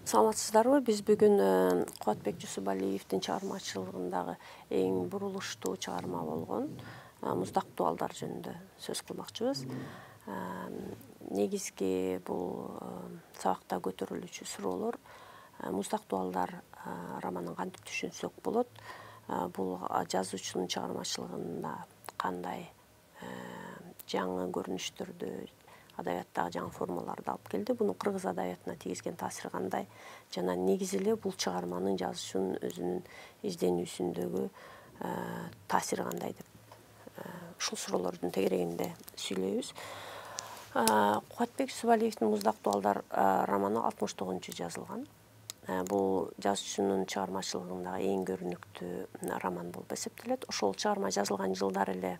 Саламатсыздарбы? Биз бүгүн Кубатбек Жусупалиевдин чыгармачылыгындагы эң бурулуштуу чыгарма болгон Муздак дуалдар жөнүндө сөз кылмакчыбыз. Негизги бул сабакта көтөрүлүүчү суроолор Муздак дуалдар романын кантип түшүнсөк болот? Бул жазуучунун чыгармачылыгында кандай жаңы көрүнүштөрдү, адабияттагы жаңы формаларды алып келди. Буну кыргыз адабиятына тийгизген таасири кандай? Жана негизи эле бул чыгарманын жазуучунун өзүнүн изденүүсүндөгү таасири кандай деп ушул суроолордун тегерегинде сүйлөйбүз. Кубатбек Жусупалиевдин Муздак дуалдар романы 69-njy жазылган. Бул жазуучунун чыгармачылыгындагы эң көрүнүктүү роман болуп эсептелет. Ошол чыгарма жазылган жылдары эле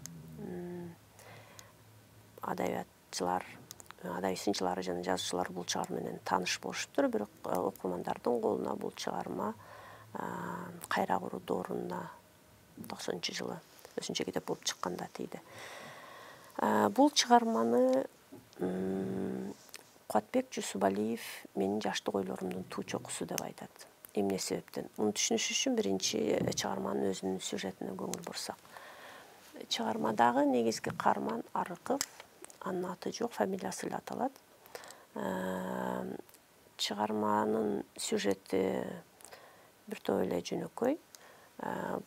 адабиятчылар, адабий сынчылары жана жазуучулар бул чыгарма менен тааныш болушуптур. Бирок окурмандардын колуна бул чыгарма Кайра куруу дооруна 90-жылы өзүнчө китеп болуп чыкканда тийди. Бул чыгарманы Кубатбек Жусупалиев менин жаштык ойлорумдун туу чокусу деп айтат. Эмне себептен? Муну түшүнүш үчүн биринчи чыгарманын өзүнүн сюжетине көңүл бурсак. Чыгармадагы негизги каарман Арыков, анын аты жок, фамилиясы эле аталат. Чыгарманын сюжети бир топ эле жөнөкөй.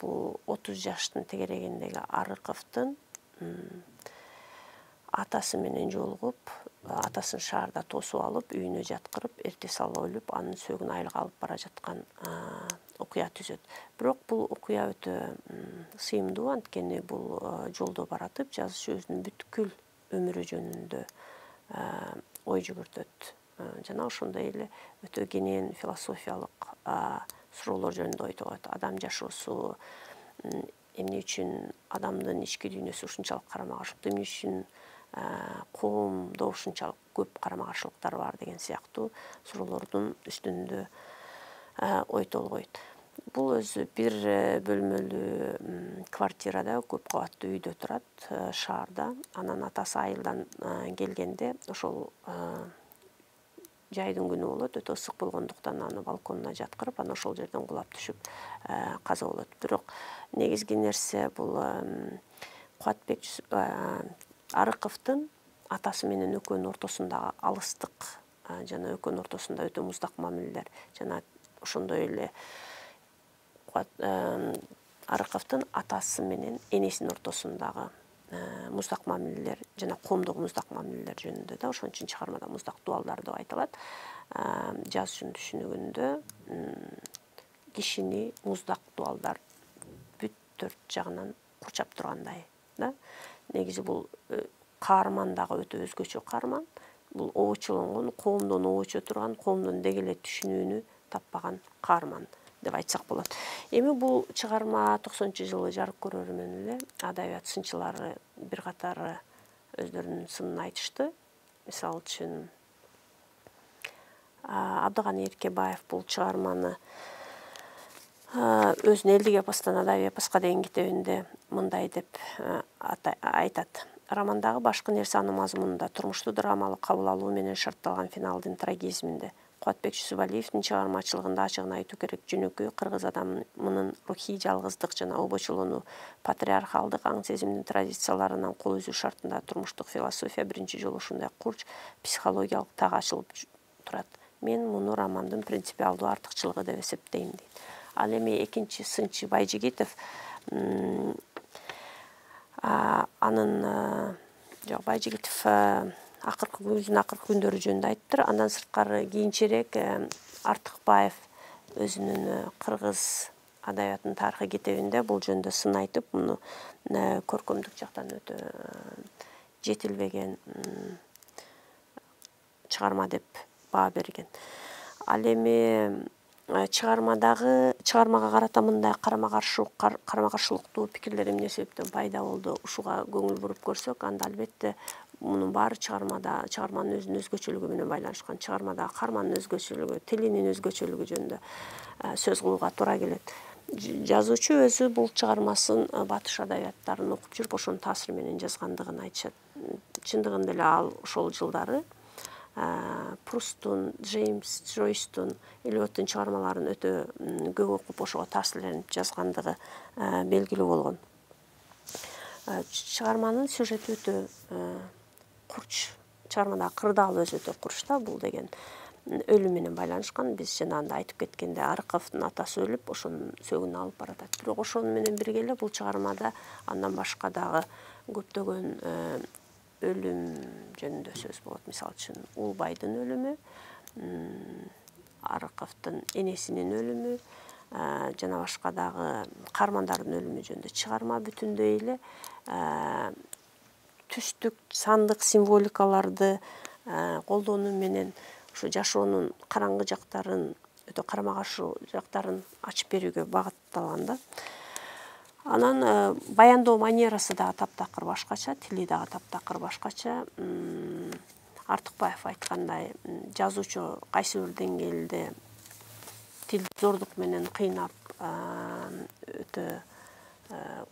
Бул 30 жаштын тегерегиндеги Арыковдун атасы менен жолугуп, атасын шаарда тосуп алып, үйүнө жаткырып, эртеси алып өлүп, анын сөөгүн айылга алып бара жаткан окуя түзөт. Бирок бул окуя өтө сыйымдуу, анткени бул жолдо баратып, жазуучу өзүнүн бүткүл өмүрү жөнүндө ой жүгүртөт. Жана ошондой эле өтө кенен философиялык суроолор жөнүндө ой тогот. Адам жашоосу эмне үчүн адамдын ички дүйнөсү ушунчалык карама-каршылыктуу, эмне үчүн коомдо ушунчалык көп карама-каршылыктар бар деген сыяктуу суроолордун үстүндө ой толгойт. Бул өзү бир бөлмөлүү квартирада, көп кабаттуу үйдө турат, шаарда. Анан атасы айылдан келгенде ошол жайдын күнү болот, өтө ысык болгондуктан аны балконуна жаткырып, анан ошол жерден кулап түшүп каза болот. Бирок негизги нерсе бул Кубатбек Арыковдун атасы менен экөөнүн ортосундагы алыстык жана экөөнүн ортосунда өтө муздак мамилелер жана ошондой эле Арыковдун атасы менен энесинин ортосундагы муздак мамилелер жана коомдогу муздак мамилелер жөнүндө да, ошон үчүн чыгармада Муздак дуалдар деп айтылат. Жазуучунун түшүнүгүндө кишини муздак дуалдар бүт төрт жагынан курчап тургандай да. Негизи бул каарман дагы өтө өзгөчө каарман. Бул обочолонгон, коомдон обочо турган, коомдон деги эле түшүнүүнү таппаган каарман деп айтсак болот. Эми бул чыгарма 90-жылы жарык көрөрү менен эле адабият сынчылары бир катары өздөрүнүн сынын айтышты. Мисалы үчүн Абдыганы Эркебаев бул чыгарманы өзүнүн элдик эпостон адабий эпоска деген китебинде мындай деп айтат. Романдагы башкы нерсе анын мазмунунда, турмушту драмалык кабыл алуу менен шартталган финалдын трагизминде. Кубатбек Жусупалиевдин чыгармачылыгында ачыгын айтуу керек, жөнөкөй кыргыз адамынын рухий жалгыздык жана обочолонуу, патриархалдык аң сезимдин традицияларынан кол үзүү шартында турмуштук философия биринчи жолу ушундай курч психологиялык так ачылып турат. Мен муну романдын принципиалдуу артыкчылыгы деп эсептейм дейт. Ал эми экинчи сынчы Байжигитов анын Байжигитов өзүнүн акыркы күндөрү жөнүндө айттыр. Андан сырткары кийинчерээк Артыкбаев өзүнүн кыргыз адабиятынын тарыхы китебинде бул жөнүндө сын айтып, муну көркөмдүк жактан өтө жетилбеген чыгарма деп баа берген. Ал эми чыгармага карата мындай карама-каршылыктуу пикирлер эмне себептен пайда болду, ушуга көңүл буруп көрсөк, анда албетте мунун баары чыгарманын өзүнүн өзгөчөлүгү менен байланышкан. Чыгармадагы каармандын өзгөчөлүгү, тилинин өзгөчөлүгү жөнүндө сөз кылууга туура келет. Жазуучу өзү бул чыгармасын батыш адабияттарын окуп жүрүп, ошонун таасири менен жазгандыгын айтышат. Чындыгында эле ал ошол жылдары Прустун, Джеймс Джойстун, Элиоттун чыгармаларын өтө көп окуп ошого таасирленип жазгандыгы белгилүү болгон. Чыгарманын сюжети өтө курч. Чыгармадагы кырдаал өзү өтө курч да. Бул деген өлүм менен байланышкан. Биз жанагында айтып кеткенде Арыковдун атасы өлүп, ошонун сөөгүн алып баратат. Бирок ошону менен бирге эле бул чыгармада андан башка дагы көптөгөн өлүм жөнүндө сөз болот. Мисалы үчүн Улбайдын өлүмү, Арыковдун энесинин өлүмү, жана башка дагы каармандардын өлүмү жөнүндө чыгарма бүтүндөй эле түстүк, сандык символикаларды колдонуу менен ушу жашоонун караңгы жактарын, өтө карама каршы жактарын ачып берүүгө багытталган да. Анан баяндоо манерасы дагы таптакыр башкача, тили дагы таптакыр башкача. Артыкбаев айткандай, жазуучу кайсы бир деңгээлде тил зордук менен кыйнап, өтө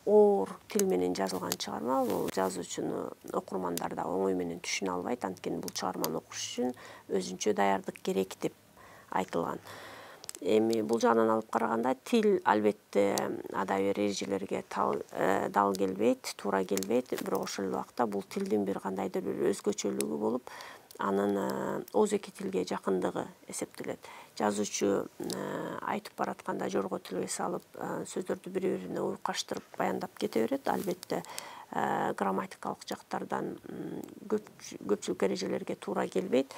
оор тил менен жазылган чыгарма. Бул жазуучуну окурмандар да оңой менен түшүнө албайт. Анткени бул чыгарманы окуш үчүн өзүнчө даярдык керек деп айтылган. Эми бул жагынан алып караганда тил албетте адабий эрежелерге дал келбейт, туура келбейт. Бирок ошол эле убакта бул тилдин бир кандайдыр бир өзгөчөлүгү болуп, анын ооз-эки тилге жакындыгы эсептелет. Жазуучу айтып баратканда жорго тилге салып, сөздөрдү бири-бирине уйкаштырып баяндап кете берет. Албетте грамматикалык жактардан көпчүлүк эрежелерге туура келбейт.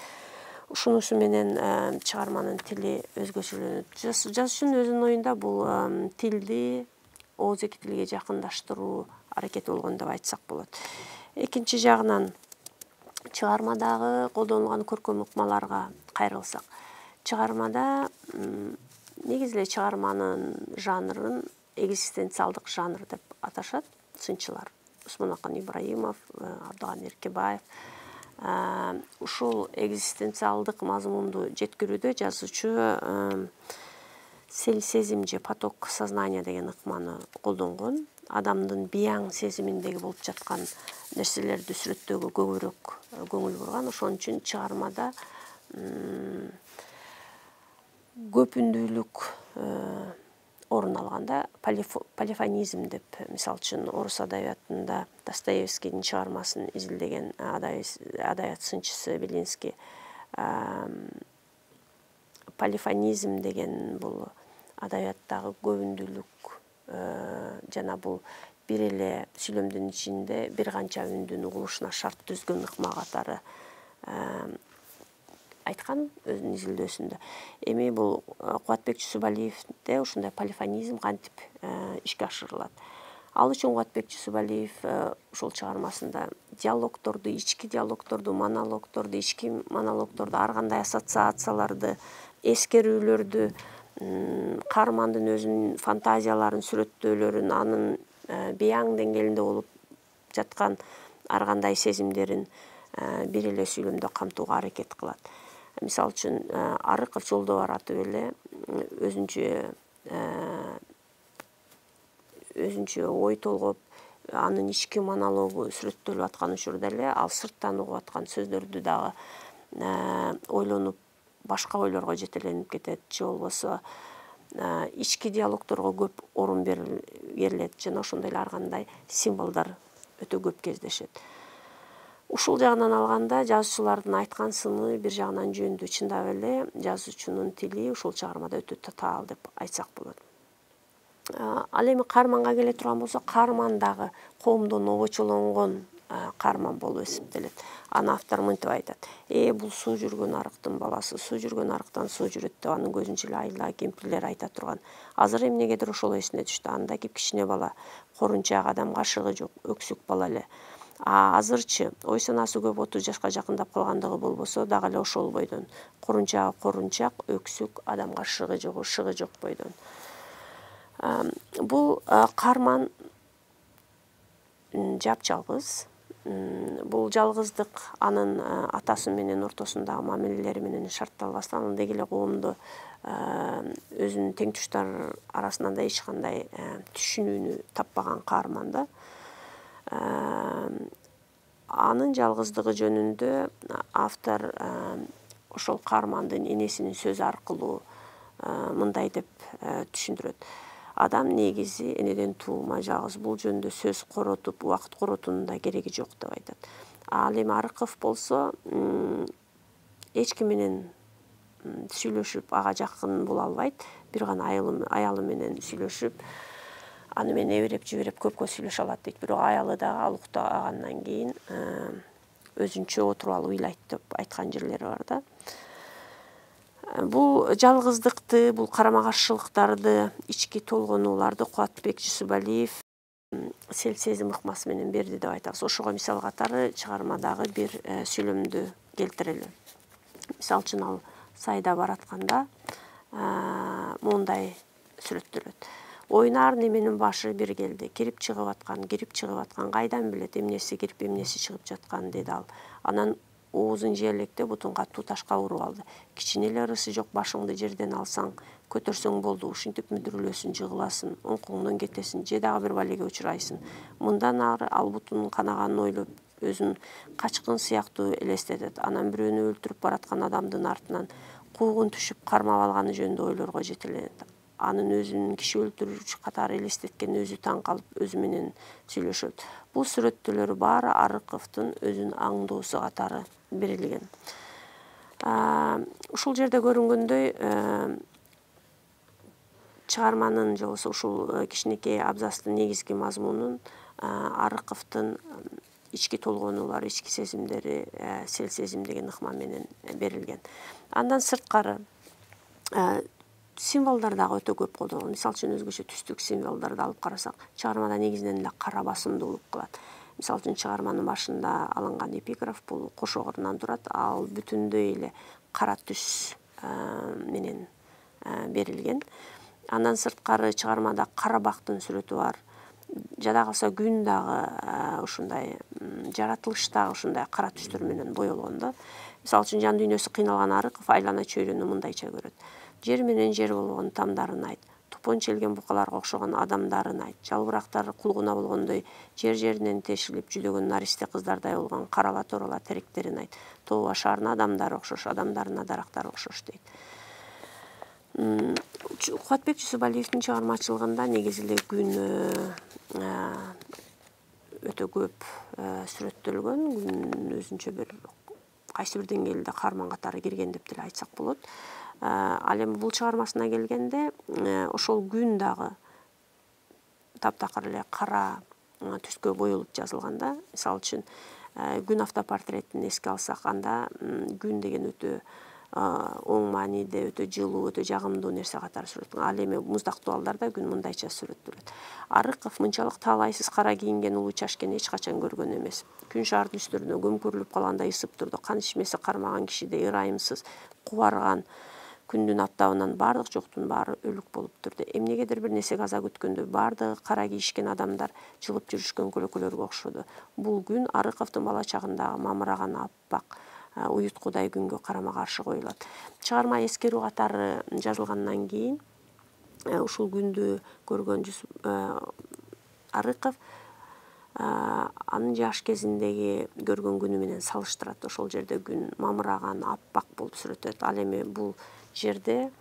Ушунусу менен чыгарманын тили өзгөчөлөнөт. Жазуучунун өзүнүн оюнда бул тилди ооз-эки тилге жакындаштыруу аракети болгон деп айтсак болот. Экинчи жагынан чыгармадагы колдонулган көркөм ыкмаларга кайрылсак, чыгармада негизи эле чыгарманын жанрын экзистенциалдык жанр деп аташат сынчылар. Усманакан Ибраимов, Абдыганы Эркебаев. Ушул экзистенциалдык мазмунду жеткирүүдө жазуучу сезим же поток сознания деген ыкманы колдонгон. Адамдын бияң сезиминдеги болуп жаткан нерселерди сүрөттөөгө көбүрөөк көңүл бурган. Ошон үчүн чыгармада көпүндүүлүк орун алганда, полифонизм деп, мисалы үчүн орус адабиятында Достоевскийдин чыгармасын изилдеген адабият сынчысы Белинский полифонизм деген бул адабияттагы көбүндүүлүк жана бул бир эле сүйлөмдүн ичинде бир канча үндүн угулушуна шарт түзгөн ыкма катары айткан өзүнүн изилдөөсүндө. Эми бул Кубатбек Жусупалиевде ушундай полифонизм кантип ишке ашырылат. Ал үчүн Кубатбек Жусупалиев ушул чыгармасында диалогторду, ички диалогторду, монологторду, ички монологторду, ар кандай ассоциацияларды, эскерүүлөрдү, каармандын өзүнүн фантазияларын, сүрөттөөлөрүн, анын бияң деңгээлинде болуп жаткан ар кандай сезимдерин бир эле сүйлөмдө камтууга аракет кылат. Мисалы үчүн Арыков жолдо баратып эле өзүнчө ой толгоп, анын ички монологу сүрөттөлүп аткан учурда эле ал сырттан угуп аткан сөздөрдү дагы ойлонуп, башка ойлорго жетеленип кетет, же болбосо ички диалогторго көп орун берилет жана ошондой эле ар кандай символдор өтө көп кездешет. Ушул жагынан алганда жазуучулардын айткан сыны бир жагынан жөндүү. Чындап эле жазуучунун тили ушул чыгармада өтө татаал деп айтсак болот. Ал эми каарманга келе турган болсок, каарман дагы коомдон обочолонгон каарман болуп эсептелет. Аны автор мынтип айтат: бул суу жүргөн арыктын баласы, суу жүргөн арыктан суу жүрөт деп анын көзүнчө эле айла кемпирлер айта турган. Азыр эмнегедир ошол эсине түштү. Анда кичине бала, корунчак, адам кашыгы жок, өксүк бала эле. Азырчы ой санасы көп 30 жашка жакындап калгандыгы болбосо дагы эле ошол бойдон. Корунчак, өксүк, адамга шыгы жок бойдон. Бул каарман жапжалгыз. Бул жалгыздык анын атасы менен ортосундагы мамилелери менен шартталбастан, андай эле коомдо өзүнүн теңтуштар арасынан да эч кандай түшүнүүнү таппаган каарман да. Анын жалгыздыгы жөнүндө автор ошол каармандын энесинин сөзү аркылуу мындай деп түшүндүрөт. Адам негизи энеден туума жалгыз, бул жөнүндө сөз коротуп, убакыт коротуунун да кереги жок деп айтат. Ал эми Арыков болсо эч ким менен сүйлөшүп ага жакын боло албайт. Бир гана аялы менен сүйлөшүп, аны менен эбиреп жибереп көпкө сүйлөшө алат дейт. Бирок аялы дагы ал уктагандан кийин өзүнчө отуруп алып ыйлайт деп айткан жерлери бар да. Бул жалгыздыкты, бул карама каршылыктарды, ички толгонууларды Кубатбек Жусупалиев сел сезим ыкмасы менен берди деп айтабыз. Ошого мисал катары чыгармадагы бир сүйлөмдү келтирели. Мисалы үчүн ал сайда баратканда моундай сүрөттөлөт. Ойнар неменин башы бир келди. Кирип чыгып аткан, кайдан билет эмнеси кирип эмнеси чыгып жаткан, деди ал. Анан оозун жиэлектеп бутун катуу ташка уруп алды. Кичине эле ырысы жок, башыңды жерден алсаң, көтөрсөң болду, ушинтип мүдүрүлөсүң, жыгыласың, оңкоңдон кетесиң, же дагы бир балеге учурайсың. Мындан ары ал бутунун канаганын ойлоп, өзүн качкын сыяктуу элестетет. Анан бирөөнү өлтүрүп бараткан адамдын артынан куугун түшүп кармап алганы жөнүндө ойлорго жетеленет. Анын өзүнүн киши өлтүрүүчү катары элестеткенине өзү таң калып, өзү менен сүйлөшөт. Бул сүрөттөлөр баары Арыковдун өзүнүн аңдоосу катары берилген. Ушул жерде көрүнгөндөй, чыгарманын же болбосо ушул кичинекей абзацтын негизги мазмунун Арыковдун ички толгонуулары, ички сезимдери, сел сезим деген ыкма менен берилген. Андан сырткары символдор дагы өтө көп колдонулган. Мисалы үчүн өзгөчө түстүк символдорду алып карасак, чыгармада негизинен эле кара басымдуулук кылат. Мисалы үчүн чыгарманын башында алынган эпиграф бул кошогорунан турат. Ал бүтүндөй эле кара түс менен берилген. Андан сырткары чыгармада Карабактын сүрөтү бар. Жада калса күн дагы ушундай, жаратылыш дагы ушундай кара түстөр менен боелгон да. Мисалы үчүн жан дүйнөсү кыйналган Арыков айлана чөйрөнү мындайча көрөт. Жер менен жер болгон тамдарын айт. Тупон челген букаларга окшогон адамдарын айт. Жалбырактар кулгуна болгондой жер-жеринен тешилип жүдөгөн наристе кыздардай болгон карала торала теректерин айт. Тоо башарына адамдар окшош, адамдарына дарактар окшош дейт. Кубатбек Жусупалиевдин чыгармачылыгында негизи эле күн өтө көп сүрөттөлгөн. Күн өзүнчө бир кайсы бир деңгээлде каарман катары кирген деп деле айтсак болот. Ал эми бул чыгармасына келгенде, ошол күн дагы таптакыр эле кара түскө боелуп жазылган да. Мисалы үчүн күн автопортретин эске алсак, анда күн деген өтө оң мааниде, өтө жылуу, өтө жагымдуу нерсе катары сүрөттөлгөн. Ал эми муздактуу балдарда күн мындайча сүрөттөлөт. Арыков мынчалык таалайсыз кара кийинген улуу чачкени эч качан көргөн эмес. Күн шаардын үстүрүнө көмкөрүлүп калгандай ысып турду. Кан ичмеси кармаган кишидей ырайымсыз, кубарган күндүн аптабынан бардык жоктун баары өлүк болуп турду. Эмнегедир бир нерсе каза күткөндөй бардыгы кара кийишкен адамдар жылып жүрүшкөн көлөкөлөргө окшоду. Бул күн Арыковдун бала чагындагы мамыраган аппак уюткудай күнгө карама каршы коюлат. Чыгарма эскерүү катары жазылгандан кийин ушул күндү көргөн Арыков анын жаш кезиндеги көргөн күнү менен салыштырат. Ошол жерде күн мамыраган, аппак болуп сүрөттөлөт. Ал эми бул жерде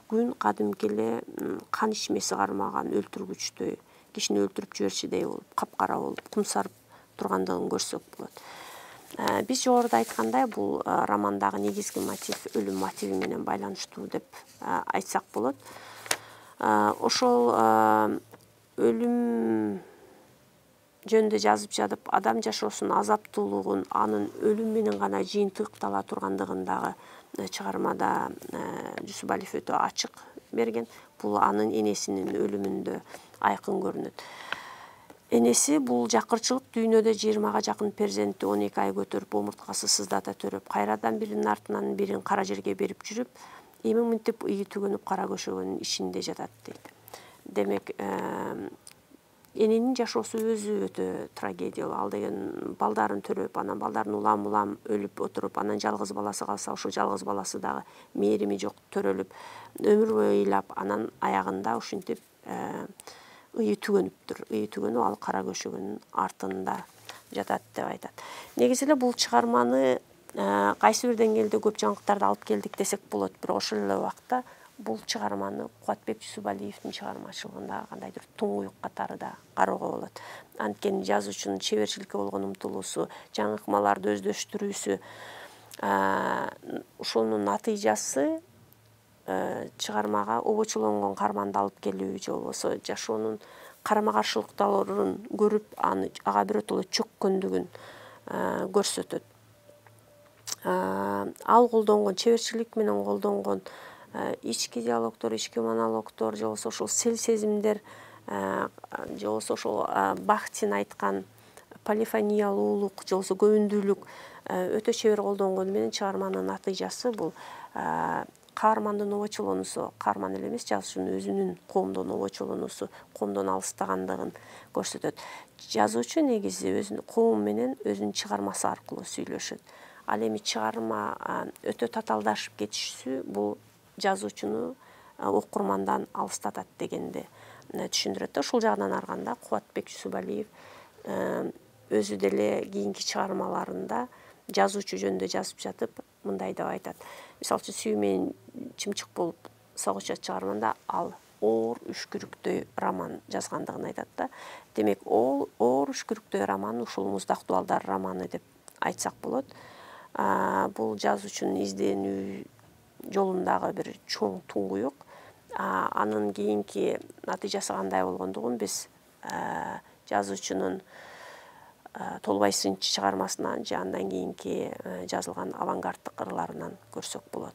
күн кадимки эле кан ичмеси кармаган өлтүргүчтөй, кишини өлтүрүп жиберчүдөй болуп, капкара болуп, кумсарып тургандыгын көрсөк болот. Биз жогоруда айткандай, бул романдагы негизги мотив өлүм мотиви менен байланыштуу деп айтсак болот. Ошол өлүм жөнүндө жазып жатып, адам жашоосунун азаптуулугун анын өлүм менен гана жыйынтыктала тургандыгын дагы чыгармада Жусупалиев өтө ачык берген. Бул анын энесинин өлүмүндө айкын көрүнөт. Энеси бул жакырчылык дүйнөдө 20га жакын перзентти 12 ай көтөрүп, омурткасы сыздата төрөп, кайрадан биринин артынан бирин кара жерге берип жүрүп, эми мынтип ыйы түгөнүп кара көшөгөнүн ичинде жатат дейт. Демек, эненин жашоосу өзү өтө трагедиялуу. Ал деген балдарын төрөп, анан балдарын улам өлүп отуруп, анан жалгыз баласы калса, ошол жалгыз баласы дагы мээрими жок төрөлүп, өмүр бою ыйлап, анан аягында ушинтип ыйы түгөнүптүр. Ыйы түгөнүп, ал кара көшөгөнүн артында жатат деп айтат. Негизи эле бул чыгарманы кайсы бир деңгээлде көп жаңылыктарды алып келдик десек болот, бирок ошол эле убакта бул чыгарманы Кубатбек Жусупалиевдин чыгармачылыгында кандайдыр туңгуюк катары да кароого болот. Анткени жазуучунун чеберчиликке болгон умтулуусу, жаңы ыкмаларды өздөштүрүүсү, ушунун натыйжасы чыгармага обочулонгон каарманды алып келүү же болбосо жашоонун карама каршылыктарын көрүп, ага биротоло чөккөндүгүн көрсөтөт. Ал колдонгон чеберчилик менен колдонгон ички диалогдор, ички монологдор же болбосо ошол сезимдер же болбосо ошол Бахтин айткан полифониялуулук же болбосо көбүндүүлүк өтө чебер колдонгону менен чыгарманын натыйжасы бул каармандын обочолонуусу, каарман эле эмес, жазуучунун өзүнүн коомдон обочолонуусу, коомдон алыстагандыгын көрсөтөт. Жазуучу негизи өзүнүн коом менен өзүнүн чыгармасы аркылуу сүйлөшөт. Ал эми чыгарма өтө татаалдашып кетиши бул жазуучуну окурмандан алыстатат дегенди түшүндүрөт. Ушул жагынан арганда Кубатбек Жусупалиев өзү деле кийинки чыгармаларында жазуучу жөнүндө жазып жатып мындай деп айтат. Мисалы үчүн Сүйүү менен чымчык болуп согушат чыгарманда ал оор үшкүрүктөй роман жазгандыгын айтат да. Демек, оор үшкүрүктөй роман ушул Муздак дубалдар романы деп айтсак болот. Бул жазуучунун изденүү жолундагы бир чоң туңгуюк. Анын кийинки натыйжасы кандай болгондугун биз жазуучунун Толбой сынчы чыгармасынан же андан кийинки жазылган авангарддык ырларынан көрсөк болот.